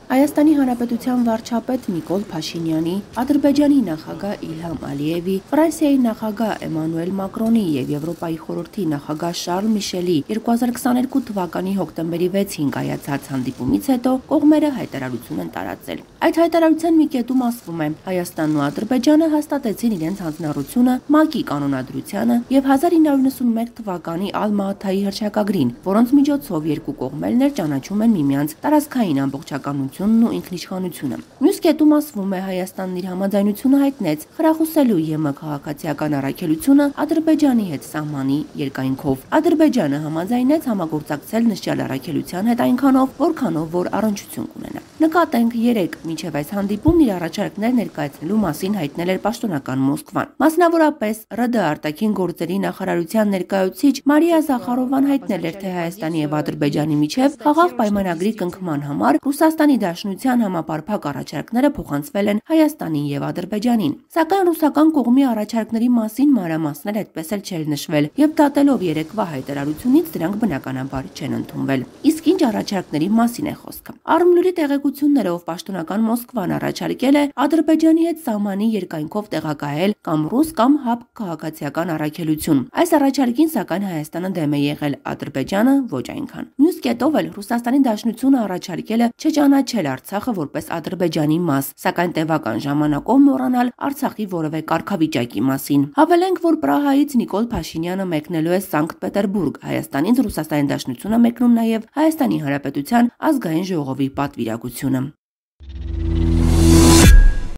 Հայաստանի Հանրապետության վարչապետ Նիկոլ Փաշինյանի, Ադրբեջանի նախագահ Իլհամ Ալիևի, Ֆրանսիայի նախագահ Էմանուել Մակրոնի եւ Եվրոպայի խորհրդի նախագահ Շարլ Միշելի 2022 թվականի հոկտեմբերի 6-ին կայացած հանդիպումից հետո կողմերը հայտարարություն են տարածել։ Այդ հայտարարության մի կետում ասվում է. Հայաստանն ու Ադրբեջանը հաստատեցին իրենց հանձնառությունը ՄԱԿ-ի կանոնադրությանը եւ 1991 թվականի Ալմա-Աթայի հռչակագրին, որոնց միջոցով երկու կողմերն ճանաչում են միմյանց տարածքային ամբողջականությունն ու ինքնիշխանությունը։ Մյուս կետում ասվում է Հայաստանն իր համաձայնությունը հայտնեց խրախուսելու ԵՄ քաղաքացիական առաքելությունը Ադրբեջանի հետ սահմանի երկայնքով։ Ադրբեջանը համաձայնեց համագործակցել նշյալ առաքելության հետ այնքանով, որքանով որ առնչություն կունենա։ Նկատենք 3 մինչև այս հանդիպումն իր առաջարկներ ներկայացնելու մասին հայտնել էր պաշտոնական Մոսկվան։ Մասնավորապես ՌԴ արտաքին գործերի նախարարության ներկայացուցիչ Մարիա Զախարովան հայտնել էր, թե Հայաստանի եւ Ադրբեջանի միջև խաղաղ պայմանագրի կնքման համար Ռուսաստանի Դաշնության համապարփակ առաջարկները փոխանցվել են Հայաստանին եւ Ադրբեջանին։ Սակայն ռուսական կողմի առաջարկների մասին մանրամասներ այդպես էլ չեն նշվել եւ դատելով երեկվա հայտարարությունից դրանք բնականաբար չեն ընդունվել։ Իսկ ինչ առաջարկների մասին է խոսքը։ Արմլուրի տեղեկություններով պաշտոնական Մոսկվան առաջարկել է Ադրբեջանի հետ սահմանի երկայնքով տեղակայել կամ ռուս կամ հապ քաղաքացիական առաքելություն։ Այս առաջարկին սակայն Հայաստանը դեմ է եղել, Ադրբեջանը ոչ այնքան։ Մյուս կետով էլ Ռուսաստանի Դաշնությունը առաջարկել է չճանաչել Արցախը որպես Ադրբեջանի մաս, սակայն տևական ժամանակով մոռանալ Արցախի որևէ կարգավիճակի մասին։ Հավելենք, որ Պրահայից Նիկոլ Փաշինյանը մեկնելու է Սանկտ Պետերբուրգ, Հայաստանից Ռուսաստանի Դաշնությունը մեկնում նաև Հայաստանի Հանրապետության ազգային ժողովի պատվիրակությունը։